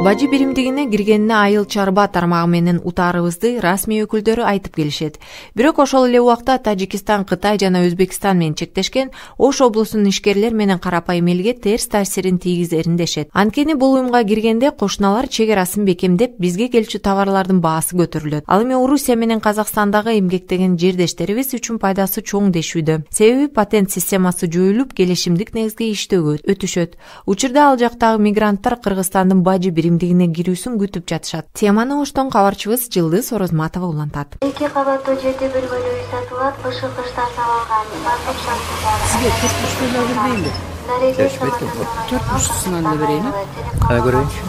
Бажы биримдигине киргенине айыл чарба тармагы менен утаарыбызды расмий өкүлдөрү айтып келишет. Бирок ошол эле убакта Тажикистан, Кытай жана Өзбекстан менен чектешкен Ош облусунун ишкерлер менен карапайым элге терс таасирин тийгизерин дешет. Анткени бул уюмга киргенде кошуналар чек арасын бекемдеп, бизге келчү товарлардын баасы көтөрүлөт. Ал эми Орусия менен Казакстандагы эмгектеген жердештерибиз үчүн пайдасы чоң дешүүдө. Себеби патент системасы жоюлуп, келишимдик негизге иштөөгө өтүшөт. Учурда ал жактагы мигранттар Кыргызстандын бажы биримдигине кирүүсүн күтүп жатышат. Теманы Оштон кабарчыбыз Жылдыз Орозматова улантат. 2 кабаттуу жерде бир бөлүгү сатылат, кышкы кыштан салынган. Сизге 4,5 бербейинби? 4,5-сынан да берейинби? Кая көрөйүнчү?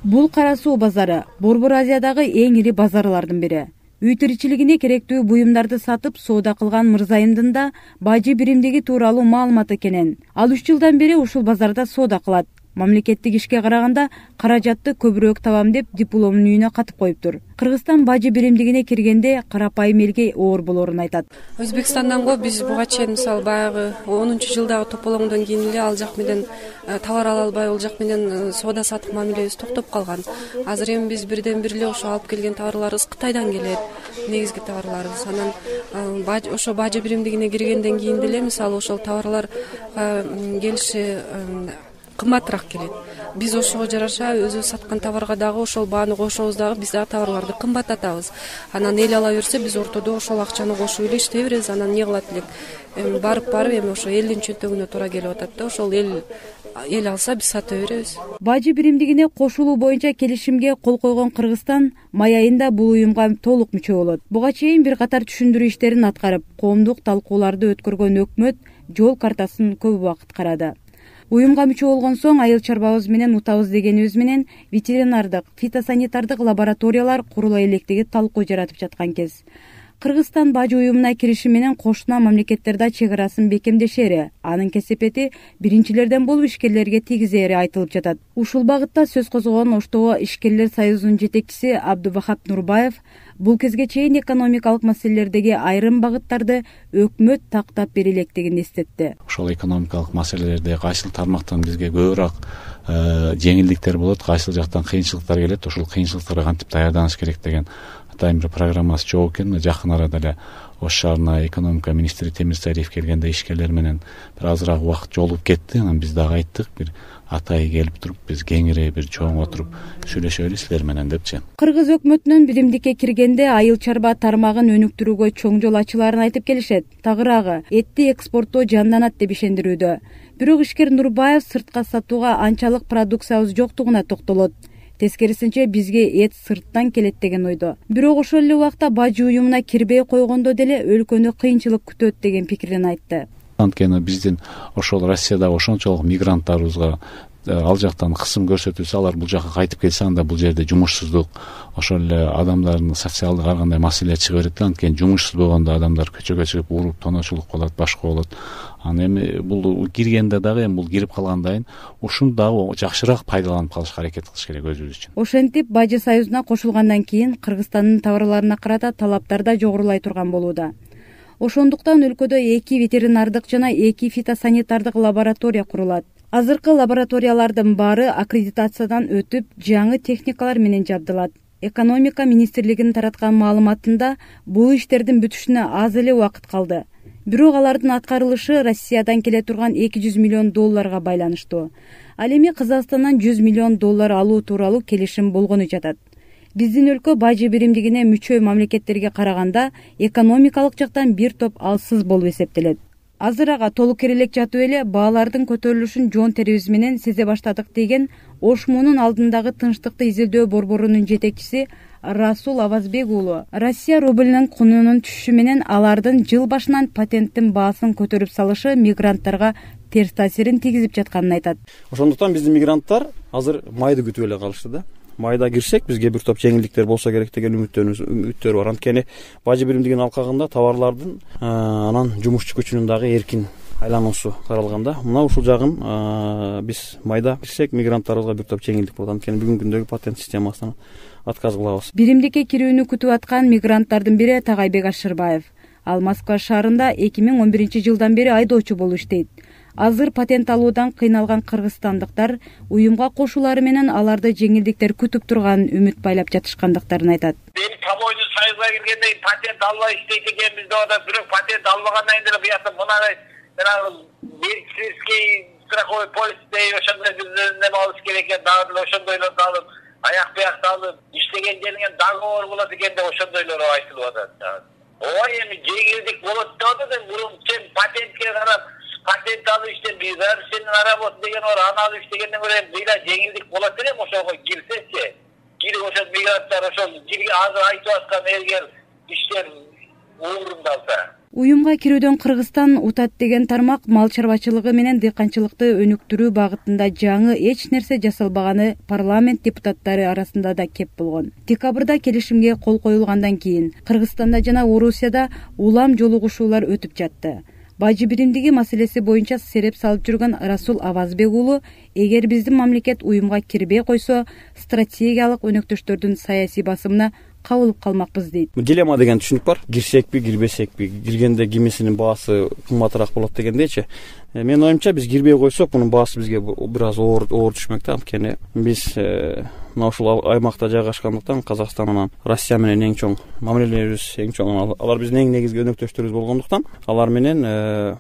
Бул Кара Суу базары Борбор Азиядагы эң ири базарлардын бири. Үй тиричилигине керектүү буюмдарды сатып соода кылган Мырзайымдын да бажы биримдиги тууралуу маалыматы кенен. Ал 3 жылдан бери ушул базарда соода кылат. Мамлекеттик ишке караганда каражатты көбүрөөк табам деп дипломун үйүнө катып коюптур. Кыргызстан бажы биримдигине киргенде карапайым элге оор болорун айтат. Өзбекстандан го биз буга чейин мисалы баягы 10-жылдагы тополоңдон кийин эле ал жак менен товар ала албай, ал жак менен соода сатык мамилебиз токтоп калган. Азыр эми биз бирден бир эле ошо алып келген товарларыбыз Кытайдан келет. Негизги товарларыбыз анан ошо бажы биримдигине киргенден кийин деле мисалы ошол товарлар келиши кымбатыраак келет. Биз ошого жараша өзүбүз саткан товарга дагы ошол бааны кошобуз дагы биз дагы товарларды кымбаттатабыз. Анан эл ала берсе биз ортодо ошол акчаны кошуп эле иштей беребиз. Анан эмне кылат элек? Барып эми ошо элдин чөнтөгүнө туура келип атат да. Ошол эл алса биз сата беребиз. Бажы биримдигине кошулуу боюнча келишимге кол койгон Кыргызстан май айында бул уюмга толук мүчө болот. Буга чейин бир катар түшүндүрүү иштерин аткарып, коомдук талкууларды өткөргөн өкмөт жол картасын көп убакыт карады. Уюмга мүчө болгон соң айыл чарбабыз менен утабыз дегенибиз менен ветеринардык, фитосанитардык лабораториялар курула электиги талкуу жаратып жаткан кез. Кыргызстан бажы уюмуна кириши менен кошуна мамлекеттерде чек арасын бекемдешери, анын кесепети биринчилерден болуп ишкерлерге тийгизери айтылып жатат. Ушул багытта сөз козгогон Оштогу ишкерлер союзунун жетекчиси Абдубахап Нурбаев бул кезге чейин экономикалык маселелердеги айрым багыттарды өкмөт тактап бере электигин эстетти. Ошол экономикалык маселелерде кайсыл тармактан бизге көбүрөөк жеңилдиктер болот, кайсыл жактан кыйынчылыктар келет, ошол кыйынчылыктарга кантип даярданыш керек деген атайын бир программасы жок экен. Жакын арада эле Ош шаарына экономика министри Темирсариев келгенде ишкерлер менен бир азыраак убакыт жолугуп кетти. Анан биз дагы айттык, бир атай келип туруп, биз кеңири бир чоң отуруп сүйлөшөлү силер менен депчи. Кыргыз өкмөтүнүн биримдикке киргенде айыл чарба тармагын өнүктүрүүгө чоң жол ачыларын айтып келишет. Тагыраагы этти экспорттоо жанданат деп ишендирүүдө. Бирок ишкер Нурбаев сыртка сатууга анчалык продукциябыз жоктугуна токтолот. Тескерисинче бизге эт сырттан келет деген ойдо. Бирок ошол эле убакта бажы уюмуна кирбей койгондо деле өлкөнү кыйынчылык күтөт деген пикирин айтты. Анткени биздин ошол Россиядагы ошончолук мигранттарыбызга ал жактан кысым көрсөтүлсө, алар бул жака кайтып келсе, анда бул жерде жумушсуздук, ошол эле адамдардын социалдык ар кандай маселе чыга берет. Анткени жумушсуз болгондо адамдар көчөгө чыгып уруп тоночулук кылат, башка болот. Анан эми бул киргенде дагы эми бул кирип калгандан кийин ушуну дагы жакшыраак пайдаланып калышка аракет кылыш керек өзүбүз үчүн. Ошентип бажы союзуна кошулгандан кийин Кыргызстандын товарларына карата талаптар да жогорулай турган болууда. Ошондуктан өлкөдө 2 ветеринардык жана 2 фитосанитардык лаборатория курулат. Азыркы лабораториялардын баары аккредитациядан өтүп, жаңы техникалар менен жабдылат. Экономика министрлигинин тараткан маалыматында бул иштердин бүтүшүнө аз эле убакыт калды. Бирок алардын аткарылышы Россиядан келе турган $200 миллион байланыштуу. Ал эми Казакстандан $100 миллион алуу тууралуу келишим болгону жатат. Биздин өлкө бажы биримдигине мүчө мамлекеттерге караганда экономикалык жактан бир топ алсыз болуп эсептелет. Азыр ага толук элек жатып эле баалардын көтөрүлүшүн жон терибиз менен сезе баштадык деген Ош муунун алдындагы тынчтыкты изилдөө борборунун жетекчиси Расул Авазбек уулу. Россия рубльнин кунунун түшүшү менен алардын жыл башынан патенттин баасын көтөрүп салышы мигранттарга терс таасирин тийгизип жатканын айтат. Ошондуктан биздин мигранттар азыр майды күтүп эле калышты да. Майда кирсек бизге бир топ жеңилдиктер болсо керек деген үмүттөр бар. Анткени бажы биримдигинин алкагында товарлардын анан жумушчу күчүнүн дагы эркин айлануусу каралганда, мына ушул жагын биз майда кирсек мигранттарыбызга бир топ жеңилдик болот. Анткени бүгүнкү күндөгү патент системасынан отказ кылабыз. Биримдикке кирүүнү күтүп аткан мигранттардын бири Тагайбек Ашырбаев. Ал Москва шаарында 2011 жылдан бери айдоочу болуп иштейт. Азыр патент алуудан кыйналган кыргызстандыктар уюмга кошулары менен аларды жеңилдиктер күтүп турганын үмүт байлап жатышкандыктарын айтат. Эми Таможня союзга киргенден кийин патент албай иштейт экенбиз деп атат. Бирок патент албагандан кийин деле буякта мындай медицинский страховой полис ошондой бир неме алыш керек экен, дагы деле ошондойлорду алып, аяк буякты алып, иштеген жериңе договор болот экен деп ошондойлор айтылып атат. Ой, эми жеңилдик болот деп атат. Мурун сен патентке карап, патент алып иштеп, бир сенин работа деген бар, аны алып иштегенден көрө быйла жеңилдик болот элем ошого кирсечи. Кирип ошол мигранттар ошол кирге азыр айтып аткан элгер иштер орундалса. Уюмга кирүүдөн Кыргызстан утат деген тармак мал чарбачылыгы менен дыйканчылыкты өнүктүрүү багытында жаңы эч нерсе жасалбаганы парламент депутаттары арасында да кеп болгон. Декабрда келишимге кол коюлгандан кийин Кыргызстанда жана Орусияда улам жолугушуулар өтүп жатты. Бажы биримдиги маселеси боюнча сереп салып жүргөн Расул Авазбек уулу, эгер биздин мамлекет уюмга кирбей койсо, стратегиялык өнөктөштөрдүн саясий басымына кабылып калмакпыз дейт. Дилемма деген түшүнүк бар. Кирсекпи, кирбесекпи? Киргенде кимисинин баасы кымбатыраак болот дегендейчи. Менин оюмча биз кирбей койсок, мунун баасы бизге бир аз оор түшмөк да. Анткени биз мына ушул аймакта жайгашкандыктан Казакстан менен Россия менен эң чоң мамилелерибиз эң чоң. Алар биздин эң негизги өнөктөштөрүбүз болгондуктан, алар менен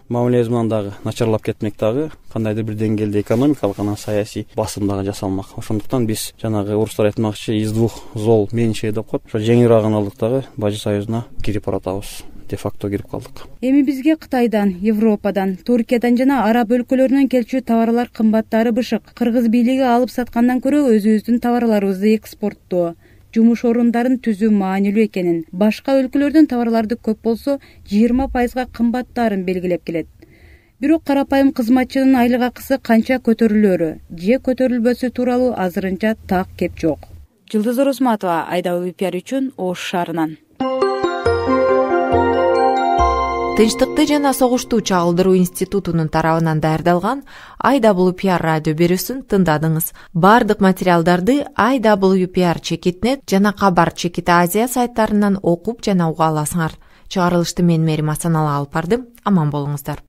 мамилебиз менен дагы начарлап кетмек, дагы кандайдыр бир деңгээлде экономикалык анан саясий басым дагы жасалмак. Ошондуктан биз жанагы орустар айтмакчы из двух зол меньше деп коет. Ошо жеңилираагын алдык дагы Бажы союзуна кирип баратабыз. Де-факто кирип калдык. Эми бизге Кытайдан, Европадан, Туркиядан жана араб өлкөлөрүнөн келчү товарлар кымбаттары бышык. Кыргыз бийлиги алып саткандан көрө өзүбүздүн товарларыбызды экспорттоо, жумуш орундарын түзүү маанилүү экенин, башка өлкөлөрдүн товарларды көп болсо 20% кымбаттаарын белгилеп келет. Бирок карапайым кызматчынын айлык акысы канча көтөрүлөрү же көтөрүлбөсү тууралуу азырынча так кеп жок. Жылдыз Оросматова, IWPR үчүн Ош шаарынан. Тынчтыкты жана согушту чагылдыруу институтунун тарабынан даярдалган IWPR радио берүүсүн тыңдадыңыз. Бардык материалдарды IWPR-net жана Кабар Азия сайттарынан окуп жана уга аласыңар. Чыгарылышты мен Мерим Асаналы алып бардым. Аман болуңуздар.